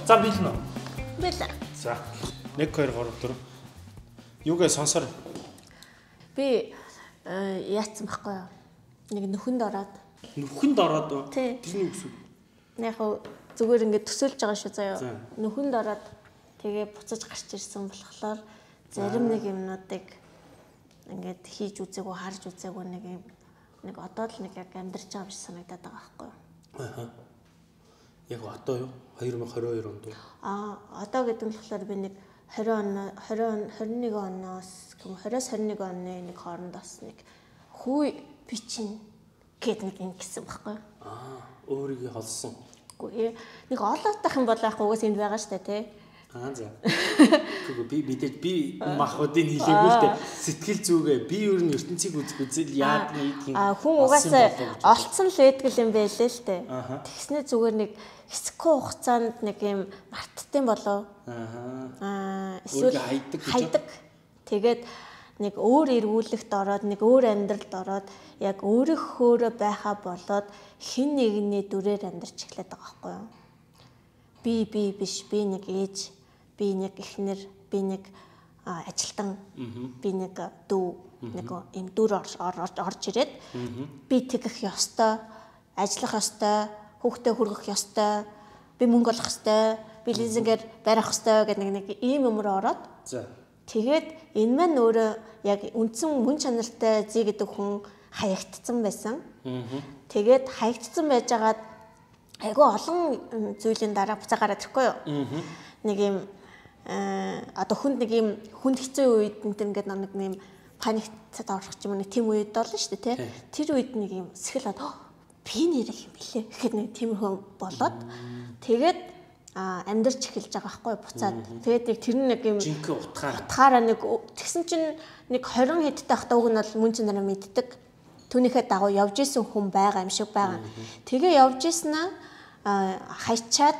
За билнэ үү? Билээ. За 1 2 3 4. Юугээ сонсоор. Би яатсан байхгүй юу? Нэг нөхөнд ороод. Нөхөнд ороод уу? Тэрний үгс. Яг зүгээр ингээд төсөөлж байгаа шүү заяа. Нөхөнд ороод тэгээ буцаж гарч ирсэн болохоор зарим нэг юмнуудыг ингээд хийж үзээгүй, харж үзээгүй нэг одоо л нэг яг амьдарч байгаа биш санагдаад байгаа байхгүй юу? Аа. Яг одоо юу? 2022 онд уу? Одоо гэдэг нь болохоор би нэг 21 оноос 20-21 оны нэг хоорондоос нэг хүй бичин гэдэг нэг юм гисэн байхгүй юу? Өөрийгөө холсон. Үгүй нэг олоотах юм бол яг угаас энд байгаа штэ тий. За. Гэхдээ би махуудын хэлээгүй л дээ. Сэтгэл зүгээ би ер нь ертөнцийг үзэл яад нэг юм. Хүн угаасаа олцсон л байдаг юм байлээ л дээ. Тэгснэ зүгээр нэг хэсэггүй хугацаанд нэг юм мартдсан болов. Эсвэл хайдаг. Тэгээд нэг өөр эргүүлэгт ороод нэг өөр амьдралд ороод яг өөрийнхөөрөө байхаа болоод хэн нэгний дүрээр амьдарч эхлэх байгаа байхгүй юу? Би биш, би нэг ээж, би нэг эхнэр, би нэг ажилтан, би нэг дүү, нэг юм дүр орж ирээд би тэгэх ёстой, ажиллах ёстой, хүүхдээ хүргэх ёстой, би мөнгө олох ёстой, би лизингээр барих ёстой гэдэг нэг ийм юмроо ороод. Тэгээд энэ маань өөрөө яг үндсэн мөн чанартай зүй гэдэг хүн хаягдсан байсан. Тэгээд хаягдсан байжгаад айгүй олон зүйлийн дараа буцаа гараад ирэхгүй юу? Нэг юм одоо хүнд нэг юм хүнд хэцүү үед ингээд нэг юм паникцад орох юм нэг тийм үед болно шүү дээ, тий? Тэр үед нэг юм сэтгэл би нэрэх юм билээ гэхэд нэг тиймэрхүү болоод тэгээд амьдарч эхэлж байгаа байхгүй буцаад. Тэгээд нэг тэр нэг юм жинхэнэ утгаараа нэг тэгсэн чинь нэг 20 хэдтэй ахтаа уг нь бол мөн чанараа мэддэг. Түүнийхээ дагуу явж исэн хүн байгаа юм шиг байгаа. Тэгээ явж иснаа хайчаад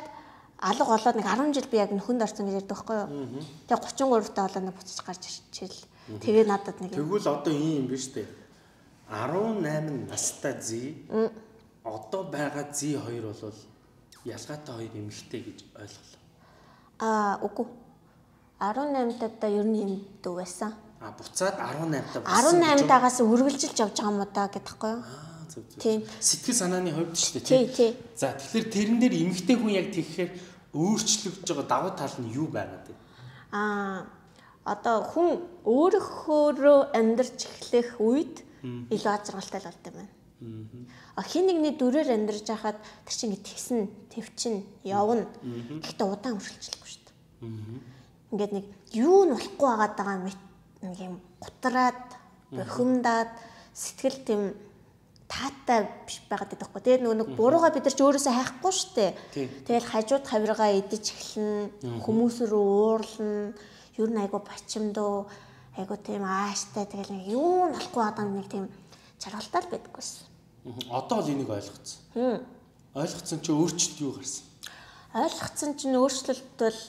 алга болоод нэг 10 жил би яг нөхөнд орсон гэж ярьдаг байхгүй юу. Тэгээ 33 таа болоод нэг буцаж гарч ирчихэл. Тэгээ надад нэг тэгвэл одоо ийм юм биш үү? 18 настай зүй одоо байгаа зүй хоёр бол ялгаатай хоёр эмэгтэй гэж ойлголоо. Үгүй. 18 таа ер нь юм дүү байсан. Буцаад 18 таа 18 таагаас үргэлжилж явж байгаа юм да гэдэгхгүй юу? Тийм. Сэтгэл санааны хувьд шүү дээ тий. За тэгэхээр тэрэн дээр эмэгтэй хүн яг тэгэхээр өөрчлөгдөж байгаа давуу тал нь юу байгаад вэ? Одоо хүн өөрөөхөөрөө амьдарч эхлэх үед илүү азаргалтай л болд юм байна. Хин нэгний дүрээр амьдарч байхад тэр чинь тэгсэн, твчин, явна. Гэхдээ удаан үргэлжлэхгүй шүү дээ. Ингээд нэг юу нь болохгүй байгаа нэг юм гутраад, бохимдаад сэтгэл тийм таатай биш байгаад байдаг хгүй. Тэгээд нэг буруугаа бид нар ч өөрөөсөө хайхгүй шүү дээ. Тэгэл хажууд хавиргаа идэж эхэлнэ, хүмүүс рүү уурлна, ер нь айгу бачимдуу, айгу тийм ааштай тэгэл нэг юу нь болохгүй байгаа нэг тийм чаргалтай л байдаггүйсэн. Одоо л энийг ойлгоцсон. Ойлгоцсон чи өөрчлөлт юу гарсан? Ойлгоцсон чинь өөрчлөлт бол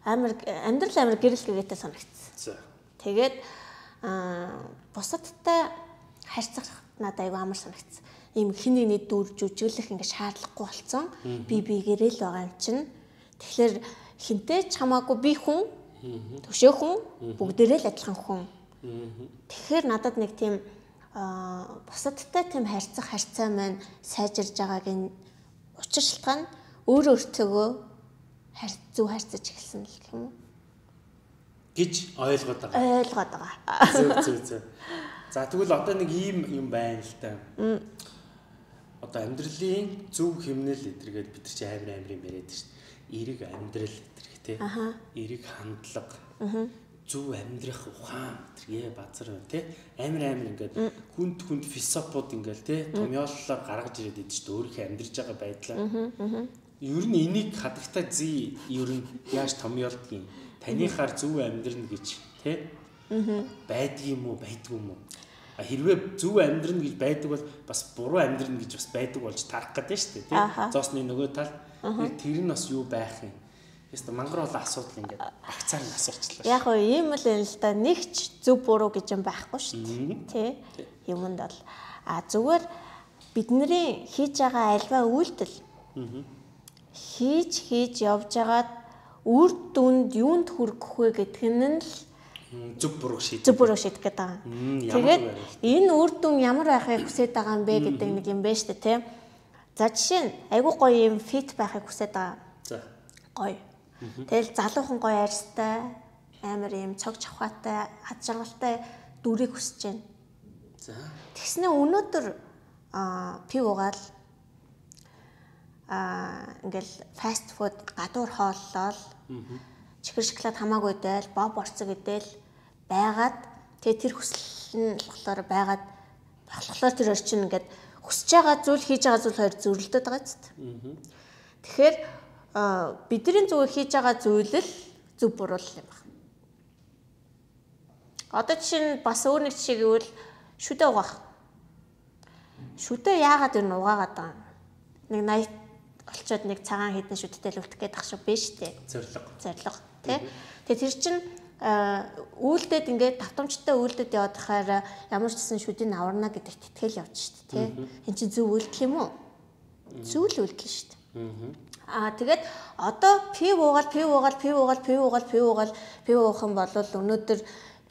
амьдрал амар гэрэл гэгээтэй санагдсан. Тэгээд бусадтай харьцах надад айгүй амар санагдсан. Ийм хин нэгний дүр жүжиглэх ингээ шаардлагагүй болсон. Би гэрэл байгаа юм чинь. Тэгэхээр хинтэй ч хамаагүй би хүн, төшөө хүн, бүгдээрээ л адилхан хүн. Тэгэхээр надад нэг тийм бусадтай тийм харьцаа маань сайжирж байгаагийн учир шалтгаан өөртөөгөө зөв харьцаж эхэлсэн л гэх юм уу гэж ойлгоод байгаа. Зөв. За тэгвэл одоо нэг ийм юм байна л та. Одоо амьдралын зөв хэмнэл эдэргээд бид нар чи амар юм яриад шүү дээ. Эрэг амьдрал эдэрх тий. Эрэг хандлага. Зөв амьдрах ухаан тэргээ базар тий. Амар ингээд хүнд философууд ингээл тий. Томьёоллоор гаргаж ирээд идэв шүү дээ. Өөрийнхөө амьдрж байгаа байдлаа. Ер нь энийг хадагтай зүй ер нь яаж томьёолдгийг танихаар зөв амьдрна гэж тий. Байдгийм үү, байдгүй юм уу? Хэрвээ зөв амьдрна гэж байдаг бол бас буруу амьдрна гэж бас байдаг болж тарах гэдэг шүү дээ, тийм. Зоосны нөгөө тал тэр нь бас юу байх юм? Яста мангар бол асуудал ингээд багцаар нь асуучлаа. Яг нь ийм л юм л да. Нэгч зөв буруу гэж юм байхгүй шүү дээ, тий. Юмд бол зүгээр бидний хийж байгаа альва үйлдэл хийж явж байгаад үр дүнд юунд хүрэх вэ гэдг нь л зөв буруу шийдэх гэдэг байгаа. Тэгээд энэ үр дүн ямар байхыг хүсэж байгаа юм бэ гэдэг нэг юм байна шүү дээ, тийм. За жишээ нь айгүй гоё юм фит байхыг хүсэж байгаа. За. Гоё. Тэгэл залуухан гоё арьстай, амар юм цог чавхаатай, ад жаргалтай дүрийг хүсэж байна. За. Тэгснэ өнөөдөр пив угаал ингээл фаст фуд гадуур хооллол чихэр шоколад хамаагүй дээл боб орцог гэдэл байгаад тэгээ тэр хүсэл нь болохоор байгаад болохоор тэр орчин ингээд хүсэж байгаа зүйл хийж байгаа зүйл хоёр зөрөлдөд байгаа ч тийм. Тэгэхээр бидний зүгээр хийж байгаа зүйл л зөв буруу юм байна. Одоо жишээ нь бас өөр нэг жишээ гэвэл шүдэ угаах. Шүдэ яагаад энэ угаагаад байгаа юм? Нэг 80 олцоод нэг цагаан хідэн шүдтэй л үлдэх гээд ах шиг биш үү? Зориг тий. Тэгээ тэр чинь үйлдэлд ингээд давтамжтай үйлдэлд яваад байхаар ямар ч гэсэн шүдийг аварна гэдэгт итгэл явж шүү дээ тий. Энд чинь зөв үйлдэл юм уу? Зөв л үйлдэл шүү дээ. Тэгээд одоо пив уугаал уух юм бол өнөөдөр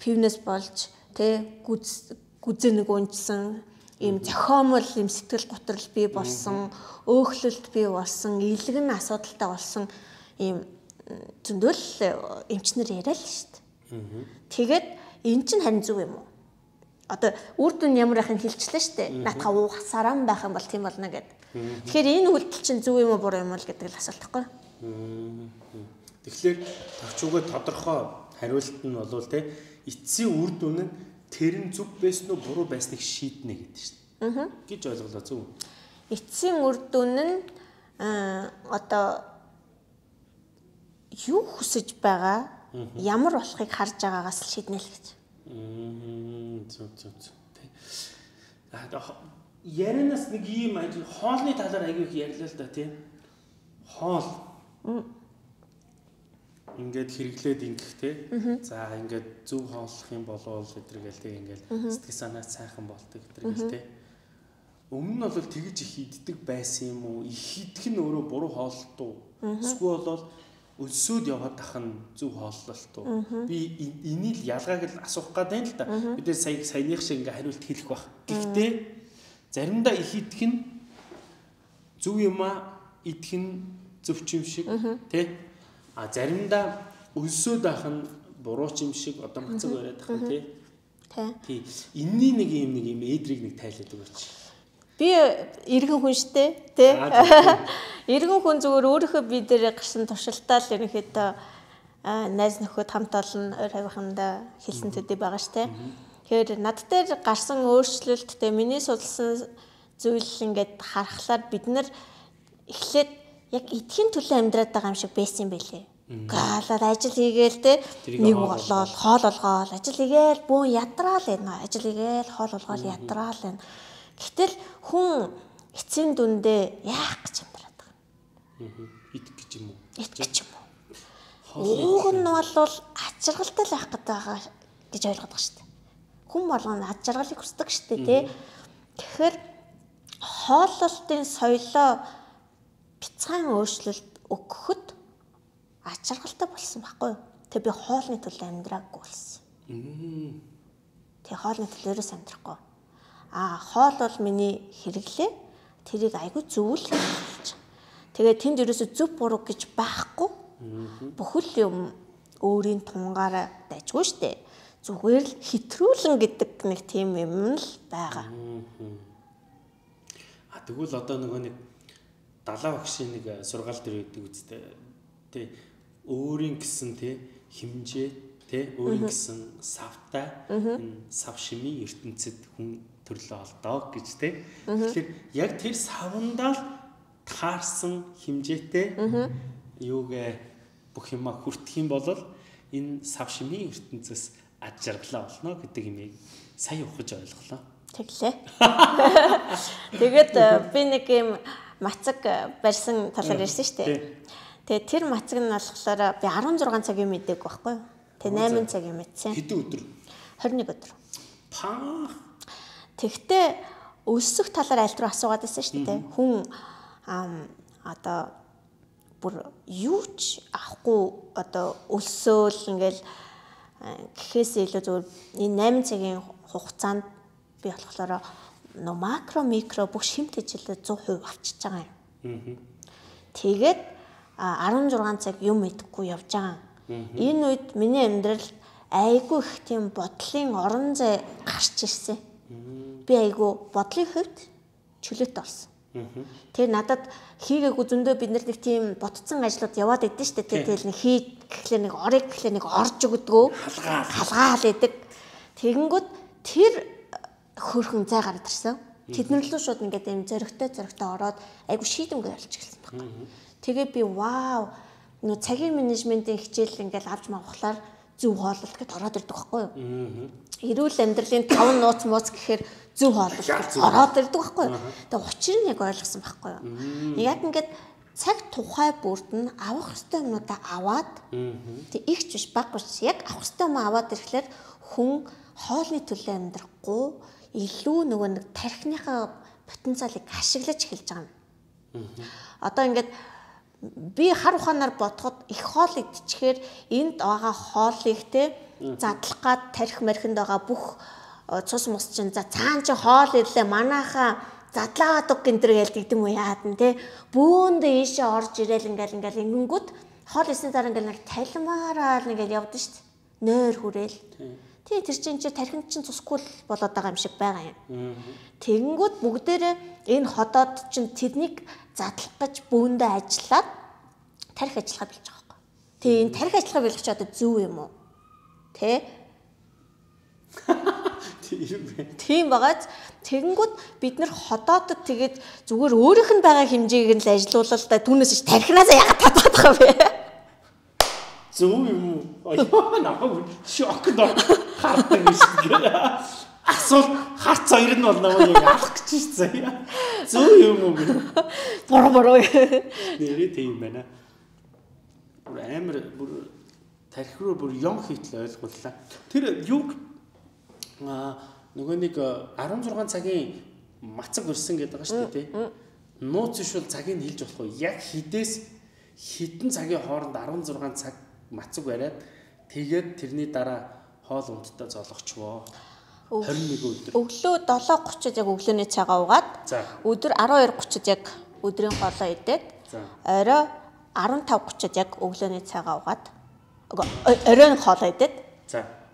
пивнес болж тий гүзээ нэг унжсан ийм зохиомол ийм сэтгэл готрол бий болсон, өөхлөлт бий болсон, илгэн асуудалтай болсон ийм зөндөл эмчнэр яриа л шүү дээ. Тэгээд эн чинь харин зөв юм уу? Одоо үр дүн ямар байхыг хэлчихлээ шүү дээ. Наатаха уухсараа байх юм бол тийм болно гэдэг. Тэгэхээр энэ үйлдэл чинь зөв юм уу буруу юм уу гэдэг л асуулт байхгүй. Тэгэхээр товчуугаа тодорхой хариулт нь болвол те эцсийн үр дүн нь тэр нь зөв байсан уу буруу байсныг шийднэ гэдэг шүү дээ. Гэж ойлголоо зөв. Эцсийн үр дүн нь одоо юу хүсэж байгаа, ямар болохыг харж байгаагаас л шийднэ л гэж. Зөв. Ярианаас нэг ийм хоолны талаар аягүй их ярьлаа л да тийм. Хоол. Ингээд хэрэглээд ингэх те. За ингээд зөв хооллох юм болов гэдэргээл те ингээд сэтгэл санаа сайхан болдог гэдэргээл те. Өмнө нь бол тэгж их иддэг байсан юм уу? Их идэх нь өөрөө буруу хооллолт уу? Эсвэл бол өлсөөд яваад ах нь зөв хооллолт уу? Би энийг л ялгааг л асуух гэдэг л да. Бид саяных шиг ингээд хариулт хэлэх бах. Гэхдээ заримдаа их идэх нь зөв юм аа, идэх нь зөвч юм шиг те. Заримдаа өлсөөд ах нь буруу ч юм шиг одоо мацаг яриад ах нь тий. Энэний нэг юм эдрийг нэг тайлаад өгөөч. Би иргэн хүн штэ тий. Иргэн хүн зүгээр өөрийнхөө бие дээр гарсан туршилтаа л ерөнхийдөө найз нөхөд хамт олон ойр хавийнхандаа хэлсэн төдий байгаа штэ. Тэгэхээр над дээр гарсан өөрчлөлт тий миний судалсан зүйл ингээд харахаар бид нар эхлээд яг эдхийн төлөө амьдраад байгаа юм шиг байсан юм байлээ. Гаалаад ажил хийгээл те нэг болоод хоол олгоол ажил хийгээл бүүн ядраал байна. Ажил хийгээл хоол олгоол ядраал байна. Гэтэл хүн эцсийн дүндээ яах гэж амьдраад байгаа. Идэх гэж юм уу? Идэх гэж юм уу? Уг нь бол ачиргалтай л байх гэдэг байгаа гэж ойлгоод байгаа шүү дээ. Хүн болгоно ачиргалыг хүсдэг шүү дээ те. Тэгэхээр хооллолтын соёлоо бяцхан өөрчлөлт өгөхөд ачиргалтай болсон байхгүй юу? Тэг би хоолны төлөө амьдраагүй болсон. Тэг хоолны төлөө ерөөс амьдрахгүй. Хоол бол миний хэрэглээ. Тэрийг айгүй зөвл хийж. Тэгээ тэнд ерөөсө зөв буруу гэж байхгүй. Бүхэл юм өөрийн тунгаараа дайжгүй штэ. Зүгээр л хэтрүүлэн гэдэг нэг тийм юм л байгаа. Тэгвэл одоо нөгөө нэг далаа багшийн нэг сургаал дээр өгдөг үстэй. Тэ өөрийн гэсэн тэ хэмжээ тэ өөрийн гэсэн савтай энэ сав шимийн ертөнцид хүн төрлөө олдоо гэж тэ. Тэгэхээр яг тэр савндаа таарсан хэмжээтэй юугээ бүх юма хүртэх юм бол энэ сав шимийн ертөнцөөс ад жаргалаа болно гэдэг юмыг сая ухаж ойлголоо. Тэглээ. Тэгээд би нэг юм мацаг барьсан талаар ярьсан шүү дээ. Тэгээд тэр мацаг нь болохоор би 16 цагийн мэдээг байхгүй юу? Тэгээд 8 цагийн мэдсэн. Хэдэн өдөр? 21 өдөр. Паа. Тэгтээ өсөх талаар аль руу асуугаад байсан шүү дээ. Хүн одоо бүр юу ч авахгүй одоо өлсөөл ингээл гэхээс илүү зөв энэ 8 цагийн хугацаанд би болохоор макро микро бүх шимт хэжилээ 100% авчиж байгаа юм. Тэгээд 16 цаг юм идэхгүй явж байгаа. Энэ үед миний амьдралд айгүй их тийм бодлын орон зай гарч ирсэн. Би айгүй бодлын хувьд чөлөөт орсон. Тэр надад хийгээгүй зөндөө бид нар нэг тийм ботцсон ажлууд яваад идэв штэ. Тэгэл нэг гэхлээр нэг орыг гэхлээр нэг орж өгдгөө халгаал идэг. Тэгэнгүүт тэр хөрхөн зай гараад ирсэн. Тэднэр лөө шууд ингээд юм зөрөгтэй ороод айгүй шийдэмгүй болж эхэлсэн баг. Тэгээ би вау нөө цагийн менежментийн хичээл ингээд авч мавхлаар зөв хооллолт гэдээ ороод ирдэг байхгүй юу? Эрүүл амьдралын 5 нууц мууц гэхээр зөв хооллолт ороод ирдэг байхгүй юу? Тэгээ учир нь яг ойлгосон байхгүй юу? Яг ингээд цаг тухай бүрд нь авах ёстой юмудаа аваад тэг ихч биш баггүй яг авах ёстой юм аваад ирэхлээр хүн хоолны төлөө амьдрахгүй илүү нөгөө нэг тархиныхаа потенциалыг ашиглаж эхэлж байгаа юм. Одоо ингээд би хар ухаанаар бодоход их хоол идчихээр энд байгаа хоолыг те задлах гад тарих мархинд байгаа бүх цус мус чинь за цаан чи хоол ирлээ манайхаа задлаад үг гэнтэр гэлдэг юм яад нь те бөөнд ийшээ орж ирээл ингээл ингэнгүүт хоол ирсний дараа ингээл нэг талмаараа ингээл явдсан шүү дээ. Нойр хүрээл. Тий тэр чинь тархинд чинь цусгүй болоод байгаа юм шиг байгаа юм. Тэгэнгүүт бүгдээрээ энэ ходоод чинь тэднийг задлах гэж бөөндөө ажиллаад тарих ажиллагаа билж байгаа байхгүй. Тий энэ тарих ажиллагаа билгэж одоо зөв юм уу? Тэ? Тийм багаж тэгэнгүүт бид нар ходоодод тэгээд зүгээр өөрийнх нь байгаа хэмжээг нь л ажилуулал та түүнээс ч тархинаас ягаад татаад байгаа вэ? Зөв юм уу? Аяа намайг шокд хартаг шиг. Асуул харц хоёр нь бол намайг алах гэж байна. Зөв юм уу? Бороо. Нэрээ тийм байна. Бүр амар бүр тарих руу бүр юм хийтэл ойлгууллаа. Тэр юг нөгөө нэг 16 цагийн мацаг өрсөн гэдэг байгаа шүү дээ тий. Нууц ишвэл цагийг хэлж болохгүй. Яг хідээс хідэн цагийн хооронд 16 цаг мацаг бариад тэгээд тэрний дараа хоол ундтай зоолгочвоо. 21 өдөр. Өглөө 7:30-д яг өглөөний цагаа уугаад өдөр 12:30-д яг өдрийн хоолоо идээд орой 15:30-д яг өглөөний цагаа уугаад оройн хоолоо идээд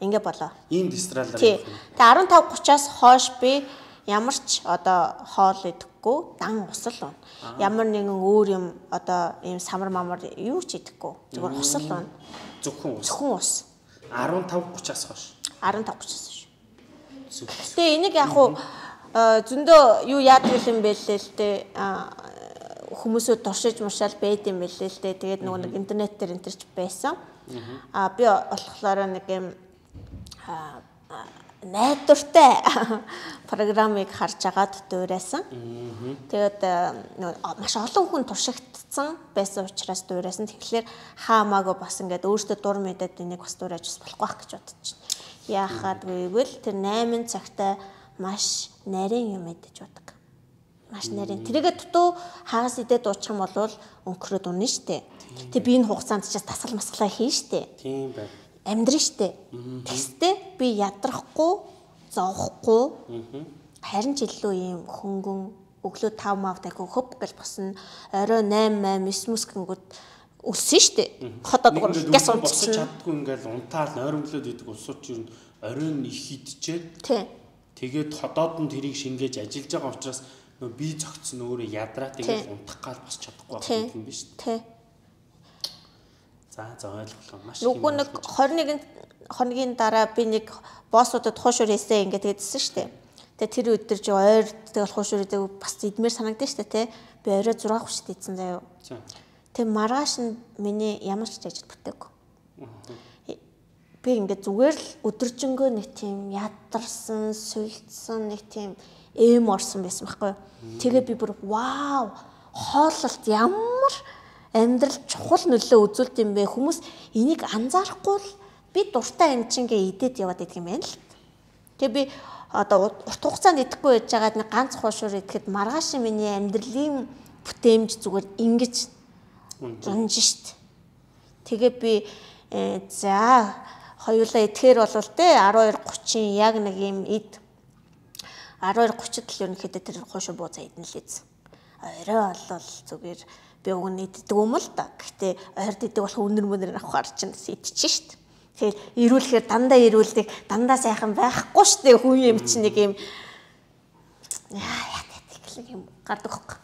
ингээ болоо. Ийм дистралаар. Тэгээ 15:30-аас хойш би ямар ч одоо хоол идэхгүй, дан усал уун. Ямар нэгэн өөр юм одоо ийм самар мамар юу ч идэхгүй. Зүгээр усал уун. Зөвхөн ус. 15:30-аас хойш. 15:30-аас хойш. Тэгээ энийг яг хуу зөндөө юу яадаг юм бэ л дээ. Хүмүүсөө туршиж мушаал байд юм бэлээ л дээ. Тэгээд нөгөө нэг интернет дээр энтерч байсан. Би болохоор нэг юм найдвартай программыг харж агаад дуурайсан. Тэгээд маш олон хүн туршигдсан байсан учраас дуурайсан. Тэгэхээр хаамаагүй бас ингээд өөртөө дур мэдээд энийг бас дуурайж болохгүй байх гэж бодож байна. Яахад гэвэл тэр 8 цагтаа маш нарийн юм мэдэж бодог. Маш нарийн. Тэрийгэ дутуу хагас идээд дуучих юм бол өнгөрөөд унна штэ. Тэг би энэ хугацаанд ч тасгал масгалаа хийн штэ. Тийм байна. Амьдрын штэ. Тэстэй би ядрахгүй, зовхгүй. Харин ч илүү юм хөнгөн өглөө 5 мав дахин хөп гэж босно. Орой 8 9 гингүүд өссөн штэ. Ходоод гяс босч чаддгүй ингээл унтаал нойрмглоод идэг усууч юу оройн их идчихээд. Тэгээд ходоод нь тэрийг шингээж ажиллаж байгаа учраас нөө бие зөгцсөн өөрөө ядраа тэгээд унтах гал босч чадахгүй байх юм биш үү? За ойлголоо маш их. Нөгөө нэг 21 хоногийн дараа би нэг боссуудад хуушур хийсэн ингээд гэдсэн штэ. Тэгээ тэр өдөр чи ойр тэгэл хуушур хийдэг бас идмээр санагдсан штэ тий. Би орой 6:30-д идсэн заяа. Тэгээ маргааш нь миний ямар ч ажил бүтээгүй. Би ингээд зүгээр л өдөржингөө нэг тийм ядарсан, сүлдсэн нэг тийм орсон байсан байхгүй юу. Тэгээ би бүр вау хооллолт ямар амьдрал чухал нөлөө үзүүлдэг юм бэ? Хүмүүс энийг анзаарахгүй л би дуртай юм чингээ идээд яваад идэх юм байна л. Тэгээ би одоо урт хугацаанд идэхгүй байж байгаад нэг ганц хуушуур идэхэд маргааш миний амьдралын бүтээмж зүгээр ингэж унж штт. Тэгээ би за хоёулаа идэхээр болвол те 12:30 яг нэг юм ид 12:30-д л ерөнхийдөө тэр хуушуур бууцаа идэн л ийз. Орой болвол зүгээр би уг нь иддэг юм л да. Гэхдээ ойрд иддэг болох өнөр мөнөр авахар чинь идчихэж штт. Тэгэхээр ирүүлэхээр дандаа ирүүлдэг, дандаа сайхан байхгүй штт. Хүн юм чинь нэг юм яа тийм юм гардаг хөөх.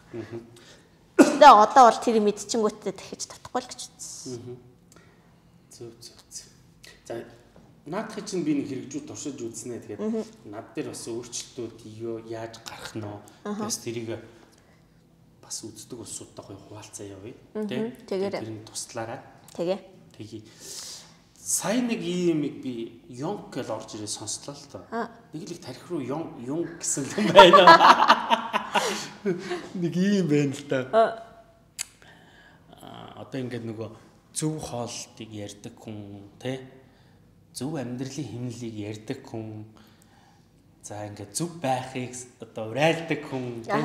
Тэгээ одоо бол тэр мэдчихэнгүүтээ дахиж татахгүй л гэж үзсэн. Зөв. За наадхыг чинь би нэг хэрэгжүүд туршиж үзснэ. Тэгээд над дээр бас өөрчлөлтүүд яаж гарах нь бас тэрийг бас үздэг улсуудтай хуваалцаа явъя. Тэгээд тэрний туслаараа. Тэгээ. Сая нэг ийм би Йонг гэж орж ирээ сонслоо л доо. Нэг л их тарих руу Йонг гэсэн юм байна. Нэг ийм байна л да. Одоо ингээд нөгөө зөв хоолтыг ярьдаг хүн тий зөв амьдралын хэмнэлийг ярьдаг хүн за ингээд зөв байхыг одоо урайлдаг хүн тий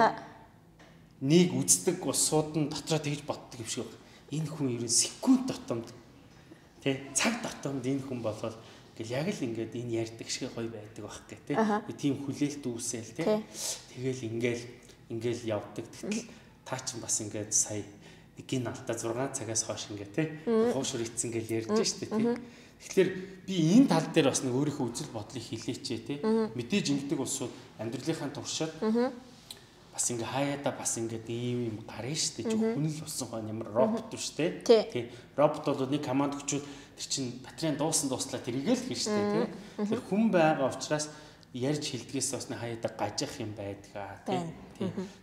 нэг үздэг усууд нь дотроо тэгж боддог юм шиг байна. Энэ хүн ерөн секунд дотомд тий цаг дотомд энэ хүн болол ингээл яг л ингээд энэ ярьдаг шиг гоё байдаг байх гэх тий. Тийм хүлээлт үүсэл тий. Тэгэл ингээл явдаг. Тэгтэл таа ч бас ингээд сая нэг алдаа 6 цагаас хойш ингээд тий хуушур ицсэн гэж ярьж штэ тий. Тэгэхээр би энэ тал дээр бас нэг өөрийнхөө үзэл бодлыг хэлээчээ тий. Мэдээж ингэдэг улсууд амьдралынхаа туршид бас ингээ хаяада бас ингээд ийм гарна штэ. Хүн л болсон хоо ямар робот штэ. Тий. Робот бол нэг команд өчүүд тэр чин батарейн дуслаа тэрийг л хийн штэ тий. Тэр хүн байгаа учраас ярьж хэлдгээс бас нэг хаяада гажих юм байдгаа тий.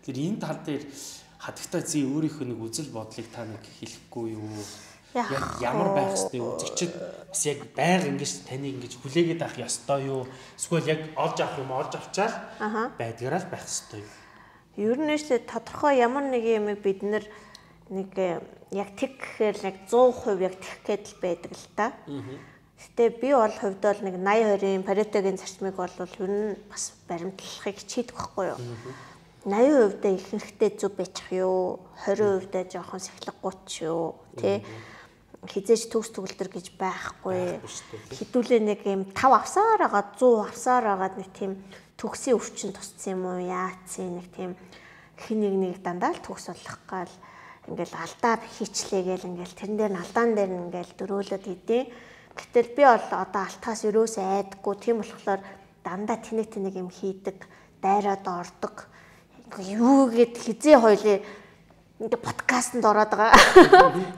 Тэр энэ тал дээр хадагтай зүй өөрийнхөө нэг үзэл бодлыг та нэг хэлэхгүй юу? Яг ямар байх ёстой юу? Үзэгчд бас яг байнга ингэж таныг ингэж хүлээгээд авах ёстой юу? Эсвэл яг олж авах юм олж авчаал байдгаараа л байх ёстой юу? Ер нь ч тодорхой ямар нэг юм бид нэг яг тэг гэхээр яг 100% яг тэгэх гээд л байдаг л та. Гэтэ би бол хувьд бол нэг 80-20-ийн Паретогийн зарчмыг бол ер нь бас баримтлахыг хичээдэг байхгүй юу? 80% дэ ихэнхдээ зүв бичих юу, 20% дэ жоохон сахилгагууч юу, тий. Хизээж төгс төгөлдөр гэж байхгүй. Хідүүлээ нэг юм 5 авсаар агаад 100 авсаар агаад нэг тийм төгсийн өвчин тусцсан юм уу, яацын нэг тийм хин нэг дандаа л төгс болох гал ингээл алдаа хийчлээгээл ингээл тэрэн дээр нь алдаан дээр нь ингээл дөрөөлөд идэв. Гэтэл би бол одоо алтаас өрөөсөө айдаггүй, тийм болохоор дандаа тэнэг юм хийдэг, дайраад ордог. Юу гэд хизээ хоёлээ ингээ подкастт ороод байгаа.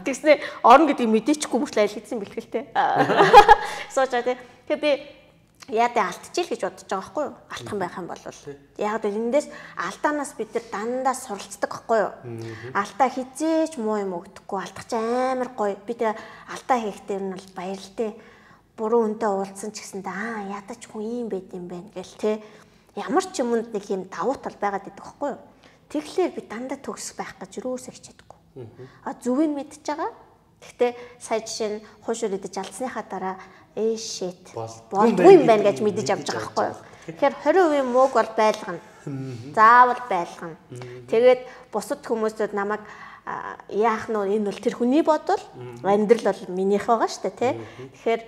Тэгснэ орно гэдгийг мэдээчгүй мөртлөө аль хийсэн бэлгэлтэй. Суучаа тий. Тэгээ би яадаа алдчихъя гэж бодож байгаа байхгүй юу? Алдах байх юм бол яг л эндээс алдаанаас бид нар дандаа суралцдаг байхгүй юу? Алдаа хизээч муу юм өгдөхгүй, алдах ч амар гоё. Би тэгээ алдаа хийхдээ нь бол баярлалтай. Буруу үнтэй уулзсан ч гэсэндээ ядаж хүн ийм байд юм байна гэл тий. Ямар ч юмд нэг юм давуу тал байгаад идэх байхгүй юу? Тэгэхээр би дандаа төгс байх гэж юусоо хичээдэггүй. Зүвийг мэдчихэж байгаа. Гэхдээ сая жишээ нь хуушур идэж алдсныхаа дараа shit болдгүй юм байна гэж мэдэж авч байгаа байхгүй юу? Тэгэхээр 20% мууг бол байлгана. Заавал байлгана. Тэгээд бусад хүмүүсүүд намайг яах нь энэ бол тэр хүний бодол, амьдрал бол минийх байгаа шүү дээ, тий. Тэгэхээр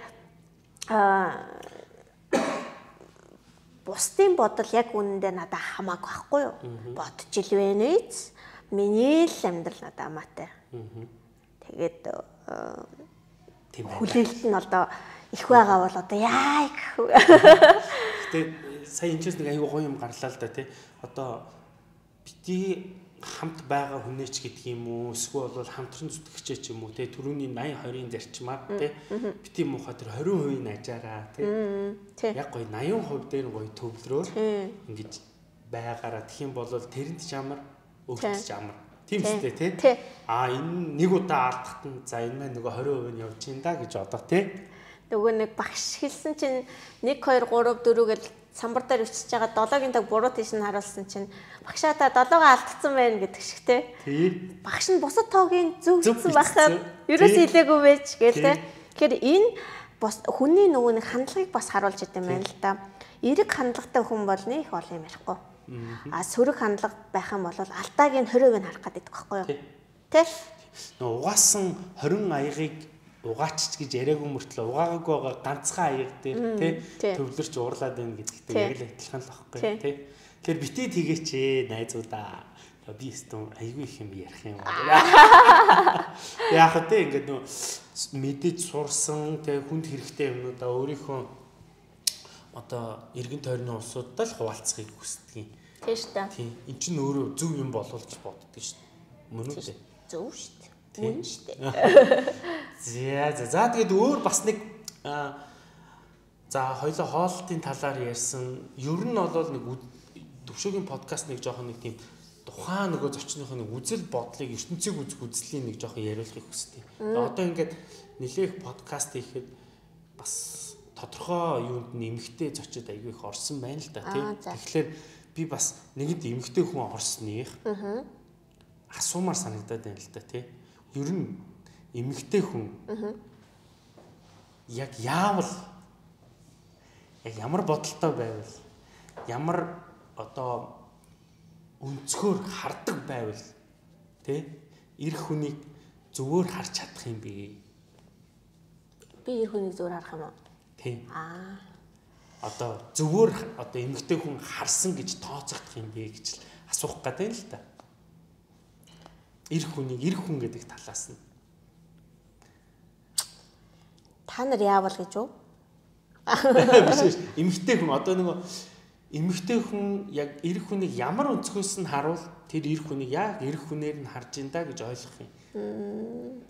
бусдын бодол яг үнэндээ надад хамаагүй байхгүй юу? Бодож ил вэ нээз. Миний л амьдрал надад хамаатай. Тэгээд хүлээлт нь одоо их байгаа бол одоо яа гэх вэ? Гэтэ сая энэ ч нэг аюу гоё юм гарлаа л да тий. Одоо бити хамт байгаа хүнээч гэдэг юм уу? Эсвэл бол хамтран зүтгэгчээ ч юм уу тий. Төрөний 80-20-ын зарчмаар тий. Бити муухай тэр 20% ажаараа тий. Яг гоё 80% дээр гоё төвлөрөө ингэж байгаараа тэгэх юм бол тэрэнд ч амар өөртөө ч амар. Тийм үстэй тий. Энэ нэг удаа алдахад нь за энэ маань нөгөө 20% нь явж ин да гэж одоо тий. Нөгөө нэг багш хэлсэн чинь 1 2 3 4 гэж самбар дээр өчсөж байгаа 7-гийн таг буруу тийш нь харуулсан чинь багшаа та 7-гаа алдсан байна гэдэг шиг тий. Багш нь бусад тоогийн зөв гэсэн байхад ерөөс хэлээгүй байж гээл тий. Тэгэхээр энэ бас хүний нөгөө нэг хандлагыг бас харуулж идэв юм байна л да. Эрэг хандлагатай хүн бол нэг олон юм ярихгүй. Сөрөг хандлага байх юм бол алдааг нь 20% харах гэдэг байхгүй юу? Тэ? Угаасан 20 аягийг угаачч гэж яриаггүй мөртлөө угаагаагүй байгаа ганцхан аяг дээр тий төвлөрч уурлаад байна гэдэгтэй яг л адилхан л байхгүй тий. Тэгэхээр битээ тэгээч найзуудаа. Би өстөн айгүй их юм ярих юм байна. Яг хөө тий ингээд нөө мэдээж сурсан тий хүнд хэрэгтэй юмнуудаа өөрийнхөө одоо эргэн тойрны улсуудтай л хуваалцахыг хүсдэг юм. Тий шүү дээ. Тий. Энд чинь өөрөө зөв юм болов гэж боддог шүү дээ. Мөн үү? Зөв шүү дээ. Мөн шүү дээ. За тэгээд өөр бас нэг за хоёлоо хоолтын талаар ярьсан. Ер нь бол нэг төвшөөгийн подкаст нэг жоохон нэг тийм тухайн нөгөө зочныхоо нэг үзэл бодлыг ертөнцийг үзэх үзлийн нэг жоохон яриулахыг хүсдэг. Одоо ингээд нэлээх подкаст хийхэд бас тодорхой юунд нэмэгтэй зочид айгүй их орсон байна л да тий. Тэгэхээр би бас нэгэнд эмэгтэй хүн орсных асуумаар санагдаад байна л да тий. Ер нь эмэгтэй хүн яг яавал яг ямар бодолтой байвал ямар одоо өнцгөр хардаг байвал тий эр хүнийг зөвөр харж чадах юм бэ? Би эр хүнийг зөвөр харах юм уу? Тий. Одоо зөвөр одоо эмэгтэй хүн харсан гэж тооцогдох юм бэ гэж л асуух гэдэг л та. Эр хүнийг эр хүн гэдэг талаас нь. Та нар яавал гэж үү? Биш эмэгтэй хүн одоо нөгөө эмэгтэй хүн яг эр хүнийг ямар өнцгөөс нь харуул тэр эр хүнийг яг эр хүнээр нь харж инда гэж ойлгох юм.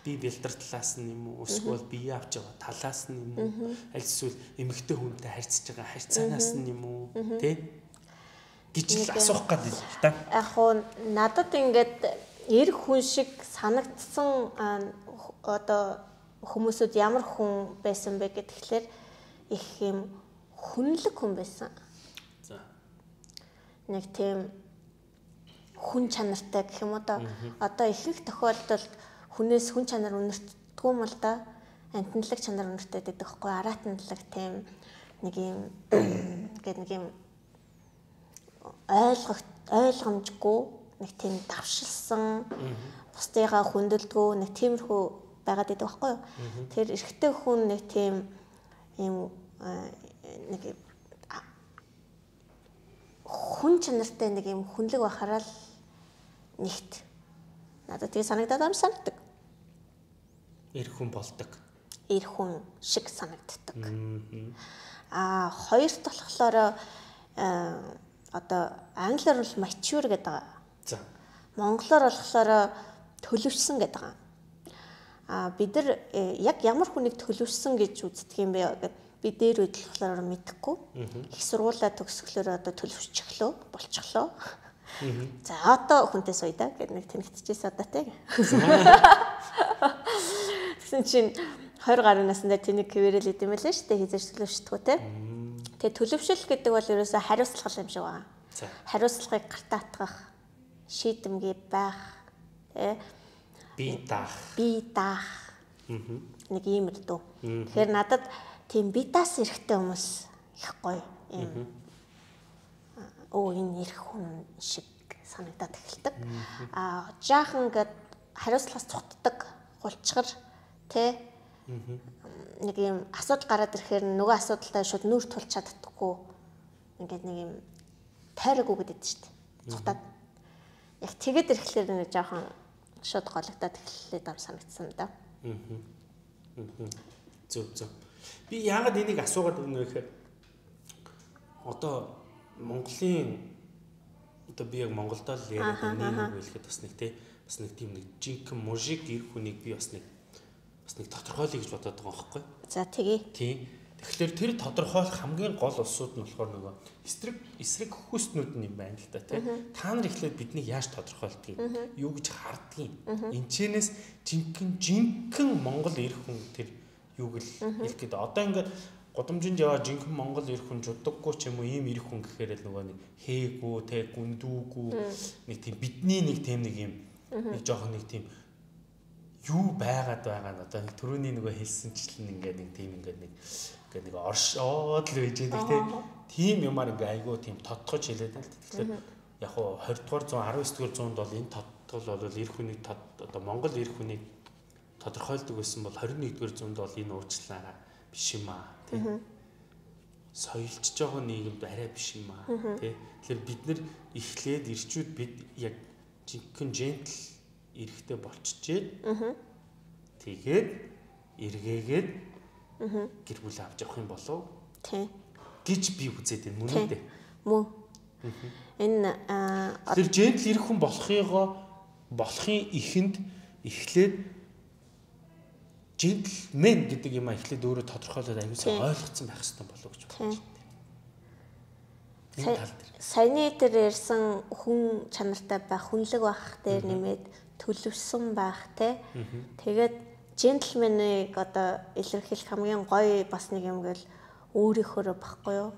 Би бэлдэр талаас нь юм уу эсвэл бие авч байгаа талаас нь юм уу аль эсвэл эмэгтэй хүнтэй харьцаж байгаа харьцаанаас нь юм уу тий гэж л асуух гэдэг л та. Яг уу надад ингээд эр хүн шиг санагдсан одоо хүмүүсүүд ямар хүн байсан бэ гэхлээр их юм хүнлэг хүн байсан. За. Нэг тийм хүн чанартай гэх юм уу одоо ихэнх тохиолдолд хүнээс хүн чанар өнөртдөггүй юм л да. Амтналаг чанар өнөртэй гэдэг хэвгүй араатналаг тийм нэг юм гэдэг нэг юм ойлгомжгүй нэг тийм давшилсан бусдыгаа хүндэлдэггүй нэг тиймэрхүү байгаад байдаг байхгүй юу. Тэр эрэгтэй хүн нэг тийм юм нэг хүн чанартай нэг юм хүнлэг байхаараа л нэгт надад тийм санагдаад ам санагдаг. Эр хүн болдог. Эр хүн шиг санагддаг. Хоёрт болохоор одоо англиар бол mature гэдэг байгаа. За. Монголоор болохоор төлөвшсөн гэдэг байгаа. Бид нар яг ямар хүнийг төлөвшсөн гэж үздэг юм бэ гэдэг би дээр үед болохоор мэдэхгүй. Их сургуулаа төгсгөлөөр одоо төлөвшчихлөө, болчихлоо. За одоо хүнтэй сууя да гэдэг нэг тэнэгтчихсэн одоо тэг. Тэгсэн чинь 20 гаруй наснда тэнийг квэрэл идэм байлаа шүү дээ хизээж төлөвшдөггүй те. Тэгээ төлөвшөл гэдэг бол ерөөсөө хариуцлага юм шиг байна. Хариуцлагыг гартаатгах, шийдэмгий байх, те. Би даах. Нэг юм л дөө. Тэгэхээр надад тийм би даас эрэхтэй хүмүүс их гоё юм. Энэ эрх хүн шиг санагдаад эхэлдэг. Жаахан ингээд хариуцлагаас цухтдаг, хулчгар тэ нэг юм асуудал гараад ирэхээр нөгөө асуудалтай шууд нүүр тулч чаддаггүй. Ингээд нэг юм тайраагүй гэдэг шүү дээ. Цухтаад. Яг тэгэд ирэхлээр нэг жаахан шууд гологдоод эхлээд ам санагдсан да. Зөв. Би яагаад энийг асуугаад өгнө гэхээр одоо Монголын одоо би яг Монголдоо л яриад нэг хэлэхэд бас нэг тийм нэг жинхэнэ мужик эр хүнийг би бас нэг тодорхойлъё гэж бодоод байгаа юм байхгүй. За тэгье. Тийм. Тэгэхээр тэр тодорхойлох хамгийн гол улсууд нь болохоор нөгөө эсрэг хөхөстнүүд нь юм байна л да тий. Та нар ихлээр биднийг яаж тодорхойлдгийг, юу гэж харддгийг. Энэчнээс жинхэнэ Монгол эр хүн тэр юуг л хэлэх гээд одоо ингээд годомжинд яваа жинхэнэ Монгол эр хүн жудаггүй ч юм уу ийм эр хүн гэхээр л нөгөө нэг хээгүү те гүндүүгүү нэг тийм бидний нэг тийм нэг юм нэг жоохон нэг тийм юу байгаад байгаа нь одоо түрүүний нөгөө хэлсэнчлэн ингээд нэг тийм ингээд нэг оршоод л байж байгаа тийм юмар ингээд айгүй тийм тодтогч хэлээд л тэгэхээр яг хуу 20 дугаар 19 дугаар зуунд бол энэ тодтол бол эр хүнийг одоо Монгол эр хүнийг тодорхойлдог байсан бол 21 дугаар зуунд бол энэ уучлаарай биш юм аа тийм соёлж жоохон нийгэмд арай биш юм аа тий. Тэгэхээр бид нар эхлээд ирчүүд бид яг жинхэнэ жентл эрэхтэй болчихжээ. Тэгээд эргээгээд гэр бүл авч явах юм болов тий гэж би үзээд байна мөн үү дээ. Мөн. Энэ тэр жентл ирэх хүн болохын ихэнд эхлээд джентльмен гэдэг юм эхлээд өөрөө тодорхойлоод аюулсаа ойлгоцсон байх хэрэгтэй болов гэж бодож байна. Саяны дээр ярьсан хүн чанартай байх, хүнлэг байх дээр нэмээд төлөвсөн байх те. Тэгээд джентльменийг одоо илэрхийлэх хамгийн гоё бас нэг юм гээл өөрийнхөө баггүй юу?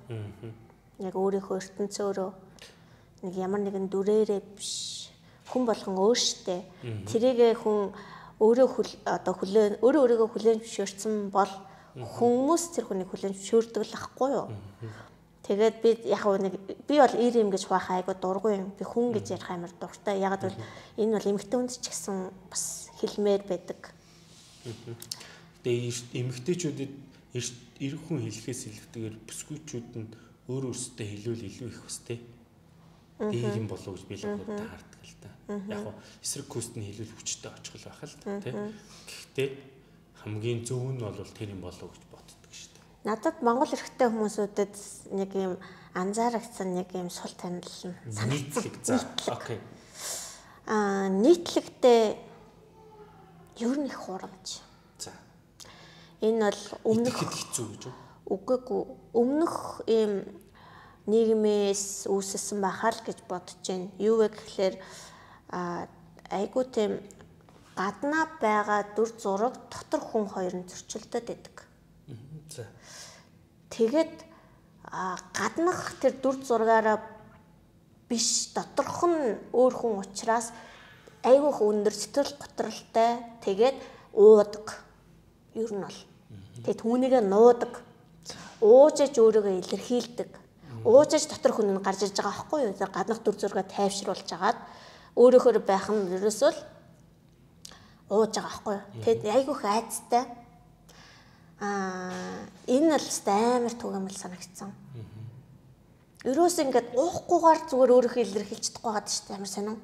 Яг өөрийнхөө ертөнцөөрөө нэг ямар нэгэн дүрээрээ биш. Хүн болгон өөртөө тэрийгэ хүн өөрийгөө хүлээн зөвшөөрсөн бол хүмүүс тэр хүнийг хүлээн зөвшөөрдөг л ахгүй юу. Тэгээд би бол ир юм гэж хуваах айгу дургүй юм. Би хүн гэж ярих амар дуртай. Яг л энэ бол эмэгтэй хүнд ч гэсэн бас хэлмээр байдаг. Тэгээд эмэгтэйчүүдэд эр хүн хэлэхээс илүүтэйгээр бүсгүйчүүд нь өөрөөсөө хэлвэл илүү их өстэй. Ийм юм болов уу гэж би л таардаг л та. Яг нь эсрэг куст нь хэлвэл хүчтэй очихл байх л та тийм. Гэхдээ хамгийн зөв нь бол тэр юм болов гэж боддог шүү дээ. Надад Монгол эрхтэй хүмүүсүүдэд нэг юм анзаарагдсан нэг юм сул танил нь нийтлэг за окей. Нийтлэгтэй ер нь их хурамч. За. Энэ бол өмнөх хэцүү гэж үү? Үгүй өмнөх ийм нийгмээс үүссэн байхаа л гэж бодож байна. Юу вэ гэхээр айгуу тийм гаднаа байгаа дүр зураг дотор хүн хоёр нь зөрчилдөд байдаг. За. Тэгээд гаднах тэр дүр зургаараа биш доторх нь өөр хүн учраас айгуух өндөр сэтгэл готролтой тэгээд уудаг. Ер нь бол. Тэгээд түүнийгээ нуудаг. Уужиж өөрийгөө илэрхийлдэг. Уужиж дотор хүн нь гарч ирж байгаа байхгүй юу? Гаднах дүр зургаа тайвшруулж агаад өөрөөхөр байх нь ерөөсөө л ууж байгаа байхгүй юу? Тэгэд айгүйх айцтай. Энэ л амар түгээмэл санагдсан. Ерөөс ингээд уухгүйгээр зүгээр өөрөөхөө илэрхийлж чадахгүй байгаа шүү дээ. Амар сонин.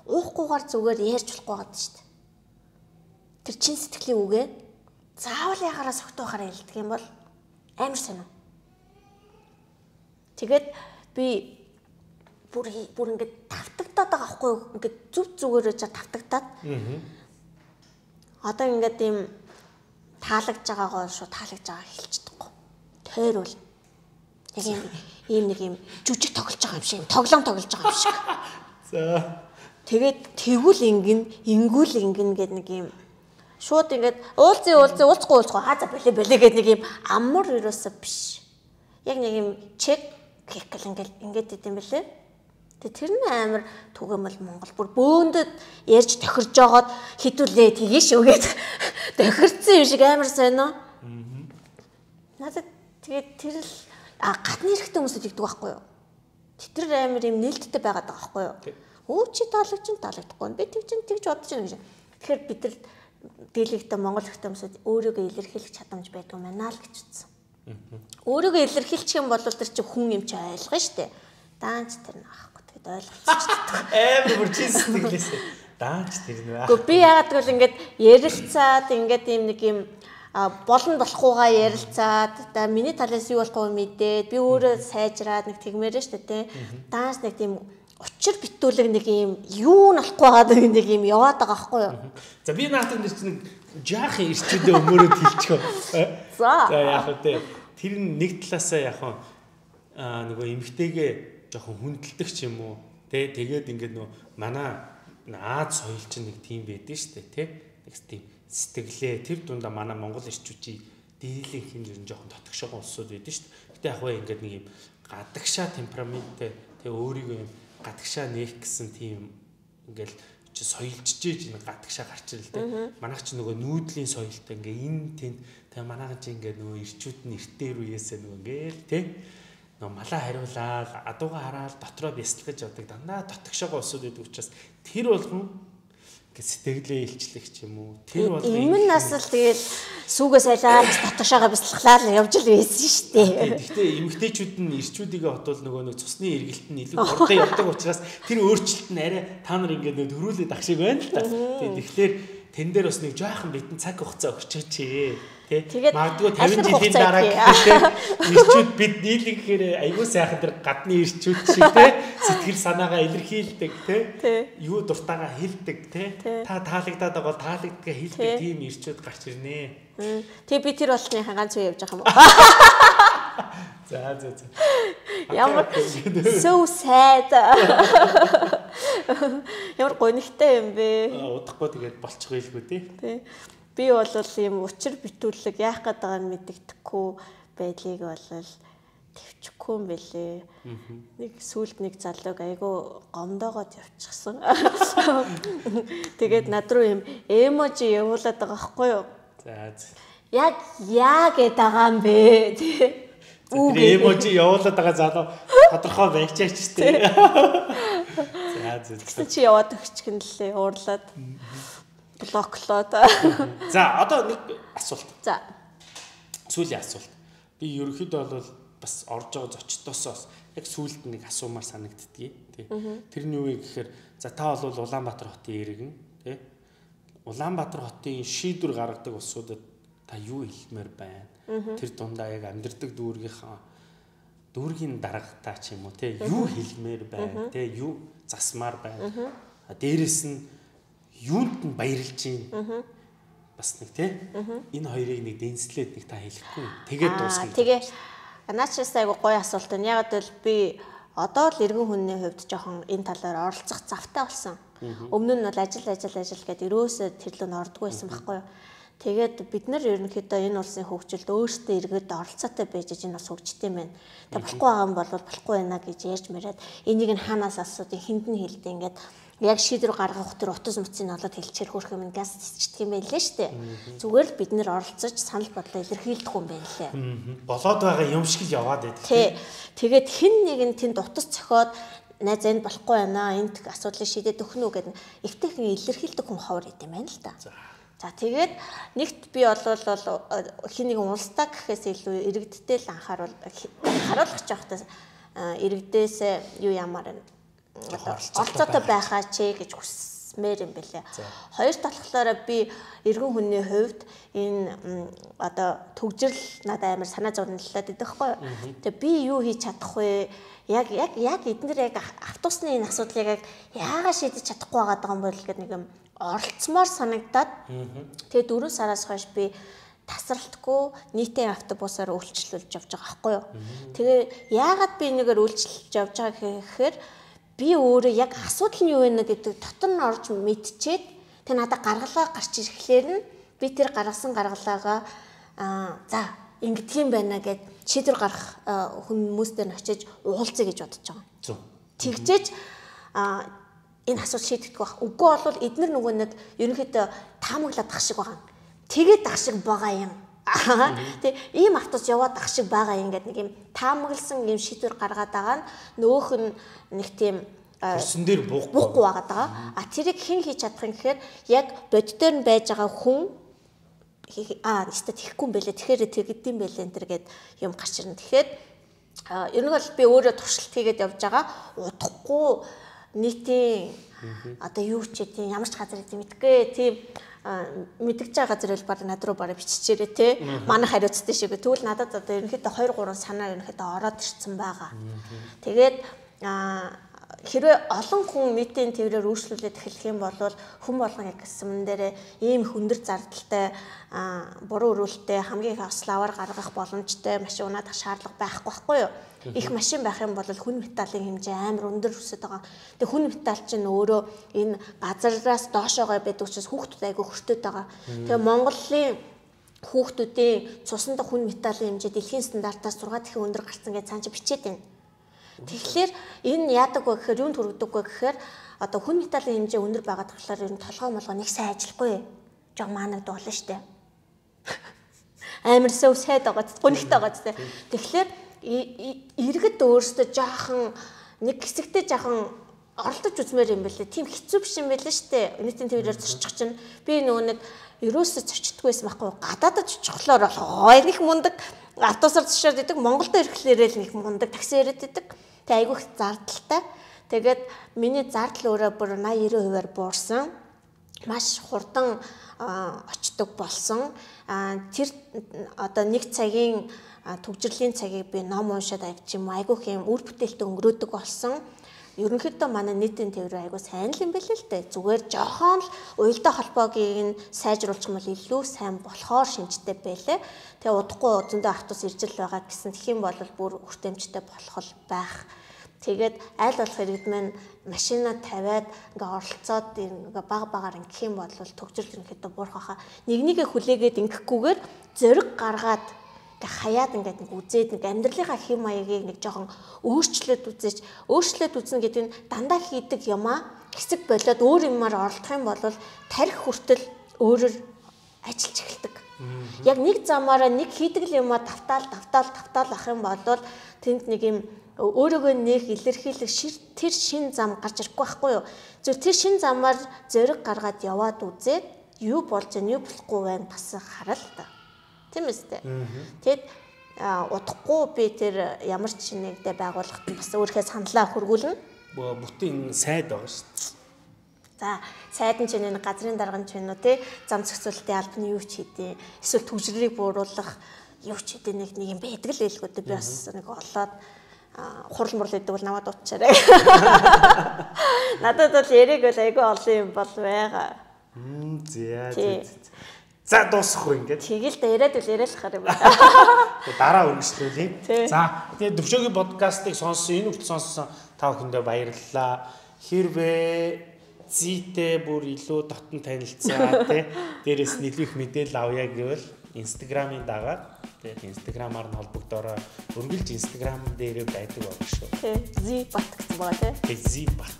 Уухгүйгээр зүгээр ярьж болохгүй байгаа шүү дээ. Тэр чин сэтгэлийн үгээ заавал ягаараа согтуухаараа хэлдэг юм бол амар сонин. Тэгээд би бүр ингээд тавтагдаад байгаа байхгүй юу? Ингээд зүгээрээ тавтагдаад. Одоо ингээд ийм таалагдж байгаагаа шууд таалагдж байгаа хэлчихдэггүй. Тойрвол яг ийм нэг ийм жүжиг тоглож байгаа юм шиг, тоглоом тоглож байгаа юм шиг. За. Тэгээд тэгвэл ингүүл гэд нэг ийм шууд ингээд уулзахгүй хааза болээ гэд нэг ийм амар ерөөсөө биш. Яг нэг ийм чек гэл ингээд идэм бэлээ. Тэгээ тэр нь амар түгээмэл Монгол бүр бөөндөд ярьж тохирж жагаад хідүүлээ тгий шүүгээд тохирцсан юм шиг амар сонио. Надад тэгээд тэр л гадны эрхтэй хүмүүсд игдэг байхгүй юу? Тэр амар юм нээлттэй байгаад байгаа байхгүй юу? Өө чи таалагдахгүй. Би тэгж бодож байна гэж. Тэгэхээр бид нар дийлэгтэй Монгол эрхтэй хүмүүсд өөрийгөө илэрхийлэх чадамж байдгүй мэнаа л гэж утсан. Өөрийгөө илэрхийлчих юм бол тэр чи хүн юм чи ойлгоно штэ. Даанч тэр наахгүй тэгэд ойлголцож чаддаг. Амар бүр чин сэтгэлээсээ даанч тэр нэ. Гэхдээ би яагаад гэвэл ингээд ярилцаад ингээд юм нэг юм болно болохгүйгаа ярилцаад та миний талаас юу болохгүй мэдээд би өөрөө сайжраад нэг тэгмээрээ штэ тэ. Даанч нэг тийм учир битүүлэг нэг юм юу нь болохгүй байгаа нэг юм яваад байгаа байхгүй юу? За би наатан дээр чинь жаахан ирчүүдээ өмөрөд хэлчихөө. За яг үү тэр нэг талаасаа яг нөгөө эмгтэйгээ жоохон хүндэлдэг ч юм уу тий тэгээд ингээд нөгөө манай Аз соёл чинь нэг тийм байдэн штэ тий нэг тийм сэтгэлээ тэр дундаа манай Монгол ирчүүчийн дийлэнх юм ер нь жоохон дотгошоо улсууд байдэн штэ. Гэтэ яг вэ ингээд нэг юм гадагшаа темпераменттэй тий өөрийгөө юм гадагшаа нээх гэсэн тийм ингээл чи соёлжжээж энэ гадагшаа гарч ирэл те. Манайх чи нөгөө нүүдлийн соёлтой ингээ энэ тэнд тэгээ манайхан чи ингээ нөгөө ирчүүд нь эртээр үеэсээ нөгөө ингээл те. Нөгөө малаа хариулаад адууга хараад дотроо бясалгаж явдаг дандаа дотгошоогоо усууд байдаг учраас тэр болгон сэтгэлээ илчлэх ч юм уу. Тэр болгон өмнө нас л тэгэл сүүгээс айлаад дотгошоогоо бясалгалаад явж л байсан шүү дээ. Гэхдээ эмэгтэйчүүд нь ирчүүдийгээ хотвол нөгөө нэг цусны эргэлт нь илүү хурдан явдаг учраас тэр өөрчлөлт нь арай та нар ингээд нөө төрүүлээд ах шиг байна л та. Тэгэхээр тэн дээр бас нэг жоохон битэн цаг хугацаа өгчөөч. Тэгээд магадгүй 50 жилийн дараа гэхээ ирчүүд бид нийлэхээр аягүй сайхан тэр гадны ирчүүд шиг те сэтгэл санаагаа илэрхийлдэг те юу дуртайгаа хэлдэг те та таалагдаад байгаа бол таалагдгаа хэлдэг тийм ирчүүд гарч ирнэ. Тэг би тэр болсныхаа ганц үе явж байгаа юм уу? За. Ямар so sad. Ямар гонигтай юм бэ? Удахгүй тэгээд болчих байлгүй тий. Би бол ийм учир битүүлэг яах гээд байгааг нь мэддэхгүй байдлыг бол төвчгүй юм бэлээ. Нэг сүүлд нэг залууг айгу гомдоогоод явчихсан. Тэгээд над руу ийм эможи явуулаад байгаа байхгүй юу? За. Яг яа гээд байгаа юм бэ тий. Тэр эможи явуулаад байгаа залуу тодорхой байчаач тий. За. Тэгсэн чи яваад өгчих юм лээ уурлаад. Блоклоод. За одоо нэг асуулт. За. Сүүлийн асуулт. Би ерөнхийдөө бол бас орж байгаа зочдоосоо яг сүүлд нэг асуумаар санагддгийг тий. Тэрний юу вэ гэхээр за та бол Улаанбаатар хотын иргэн тий. Улаанбаатар хотын шийдвэр гаргадаг улсуудад та юу хэлмээр байна? Тэр дундаа яг амьдрдаг дүүргийн даргатаа ч юм уу тий. Юу хэлмээр байна? Тий юу засмаар байна? Дээрээс нь юунд нь баярлж байна? Бас нэг тий. Энэ хоёрыг нэг дэнслээд нэг та хэлэхгүй. Тэгээд дуусгая. Тэгээ наачаас айгу гоё асуулт байна. Яг л би одоо л иргэн хүний хувьд жоохон энэ талаар оролцох завтай болсон. Өмнө нь бол ажил гэдэг өрөөсөө тэр лөө ордгүй байсан байхгүй юу? Тэгээд бид нар ерөнхийдөө энэ улсын хөгжилд өөрсдөө иргэд оролцоотой байж энэ улс хөгжтэй юм байна. Тэг болохгүй байгаа юм бол болохгүй байна гэж ярьж мэрээд энийг нь хаанаас асуудаг хүнд нь хэлдэг ингээд яг шийдвэр гаргах тэр утас мөцийг олоод хэлчихэр хөрх юм газ цэцчихдэг юм байлээ шүү дээ. Зүгээр л бид нэр оролцож санал бодлоо илэрхийлдэг юм байна лээ. Болоод байгаа юм шиг л яваад байдаг. Тий. Тэгээд хэн нэгэн тэнд утас цохоод найз энэ болохгүй байна. Энд асуудлыг шийдээд өгөх нь гэдэг эвтэйхэн илэрхийлдэг хүн ховор идэм байна л да. За тэгээд нэгт би бол хин нэгэн улстай гэхээс илүү иргэдтэй л анхааруулах жоохтой иргэдээс юу ямар оролцоотой байхаа ч гэж хүсмээр юм бэлээ. Хоёр талхлаараа би иргэн хүний хувьд энэ одоо төгжрөл надад амар санаа зовнилаад идэх байхгүй. Тэгээ би юу хийж чадах вэ? Яг эдгээр яг автобусны энэ асуудлыг яагаад шийдэж чадахгүй байгаа юм бол гэдэг нэг юм оролцмоор санагдаад тэгээ 4 сараас хойш би тасралтгүй нийтийн автобусаар үйлчлүүлж явж байгаа байхгүй юу. Тэгээ яагаад би нэгээр үйлчлүүлж явж байгаа гэхээр би өөрөө яг асуудал нь юу вэ гэдэг дотор нь орж мэдчихэд тэг надад гаргалгаа гарч ирэхлээр нь би тэр гаргасан гаргалгаа за ингэдэг юм байна гэд шийдвэр гаргах хүмүүстэй нь очиж уулзъя гэж бодож байгаа. Тэгжээж энэ асуудал шийдэгдэх байх. Үгүй бол эдгээр нөгөө нэг ерөнхийдөө таамаглаад ах шиг байгаа. Тэгээд ах шиг байгаа юм. Тэг ийм автобус яваад ах шиг байгаа юм гэдэг нэг юм таамагласан юм шийдвэр гаргаад байгаа нь нөгөөх нь нэг тийм хөрсөн дээр буухгүй байгаа. Тэрийг хэн хийж чадах юм гэхээр яг бодит дээр нь байж байгаа хүн эсвэл тэхгүй юм бэлээ. Тэгэхээр тэгдэм бэлээ энэ төр гэд юм гарч ирнэ. Тэгэхээр ер нь бол би өөрөө туршилт хийгээд явж байгаа. Удахгүй нийтийн одоо юу ч тийм ямар ч газар гэдэг мэдгүй тийм мэдгэж байгаа газар бол баг над руу бараг биччихээрээ те манай хариуцтай шиг тэгвэл надад одоо ерөнхийдөө 2-3 санаа ерөнхийдөө ороод ирсэн байгаа. Тэгээд хэрвээ олон хүн нийтийн төврээр үйлчлүүлээд эхлэх юм бол хүн болгон яг гэсэн дээрээ ийм хөндөр зардалтай буруу өрөөлттэй хамгийн их ославар гаргах боломжтой машин унаадах шаардлага байхгүй юу? Их машин байх юм бол хүн металлын хэмжээ амар өндөр өсөж байгаа. Тэгээ хүн металл чинь өөрөө энэ газараас доошоогоо байдаг учраас хүүхдүүд айгүй хөртөд байгаа. Тэгээ Монголын хүүхдүүдийн цуснд хүн металлын хэмжээ дэлхийн стандартаас 6 дахин өндөр гарсан гэж цаана бичээд байна. Тэгэхээр энэ яадаг вэ гэхээр юунд хүргэдэг вэ гэхээр одоо хүн металлын хэмжээ өндөр байгаад болохоор ер нь толгой молгоо нэг сайн ажиллахгүй. Жог маанагд болно штэ. Амар сөв сайд байгаа гонхтой байгаа ч тийм. Тэгэхээр иргэд өөрсдөө жаахан нэг хэсэгтээ жаахан оролдож үзмээр юм бэлээ. Тийм хэцүү биш юм бэлээ штэ. Нийтийн төвлөрөөр зорчих чинь би нөгөө нэг ерөөсөө зорчдггүйсэн байхгүй. Гадаадд очихлоор бол их мундаг автобусаар зочиод идэг. Монголд ирэхлээрээ л нэг мундаг такси яриад идэг. Тэг айгүйх зардалтай. Тэгээд миний зардал өөрөө бүр 80-90%-аар буурсан. Маш хурдан очдог болсон. Тэр одоо нэг цагийн төгжрлийн цагийг би ном уншаад авч юм айгүйх юм үр бүтээлтэй өнгөрөөдөг болсон. Ерөнхийдөө манай нийтийн төврөө айгүй сайн л юм бэлээ л дээ. Зүгээр жоохон л уялдаа холбоогийг нь сайжруулчих юм бол илүү сайн болохоор шинжтэй байлээ. Тэгээ удахгүй зөндөө автобус ирж л байгаа гэсэн тэгэх юм бол бүр хүртээмжтэй болох байх. Тэгээд аль болох иргэд маань машина тавиад ингээ оролцоод ингээ багаар ингэх юм бол төгжрөл ерөнхийдөө буурах хаа. Нэгнийгээ хүлээгээд ингэхгүйгээр зориг гаргаад ингээ хаяад ингээ нэг үзээд нэг амьдралынхаа хэм маягийг нэг жоохон өөрчлөөд үзнэ гэдэг нь дандаа хийдэг юмаа хэсэг болоод өөр юмар оролдох юм бол тарих хүртэл өөрөөр ажиллаж эхэлдэг. Яг нэг замаараа нэг хийдэг юмаа тавтаал ах юм бол тэнд нэг юм өөрөөгөө нэх илэрхийлэх тэр шин зам гарч ирэхгүй байхгүй юу. Зөв тэр шин замаар зориг гаргаад яваад үзээд юу болж байна, юу болохгүй байна бас хараа л та. Тийм үстэй. Тэгэд удахгүй би тэр ямар ч нэгдэ байгууллагад бас өөрхөө саналаа хөргүүлнэ. Бүтэн сайд байгаа шүү дээ. За, сайд нь ч нэг газрын дарга нь ч вэ нүү те зам зохицуулалтын албаны юу ч хийдэ. Эсвэл төгжрөлийг бууруулах юу ч хийдэ нэг юм байдаг л байлгүй дээ. Би бас нэг олоод хурал мурал гэдэг бол намайг дуучаарай. Надад бол яриг бол айгүй олон юм бол байгаа. За дуусахгүй ингээд. Тэгэл да яриад харах юм байна. Дараа үргэлжлүүлье. За тэгээд Төвшөөгийн подкастыг сонссон, энэ хүртэл сонссон та бүхэндээ баярлалаа. Хэрвээ зүйтэй бүр илүү дотн танилцаа тий дээрээс нь илүү их мэдээлэл авъя гэвэл Instagram-ын дагаад тэгээд Instagram-аар нь холбогдороо өргөлж Instagram дээрээ байдаг баг шүү. Тий, Zbot гэсэн байгаа тий. Zbot.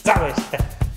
За баярлалаа.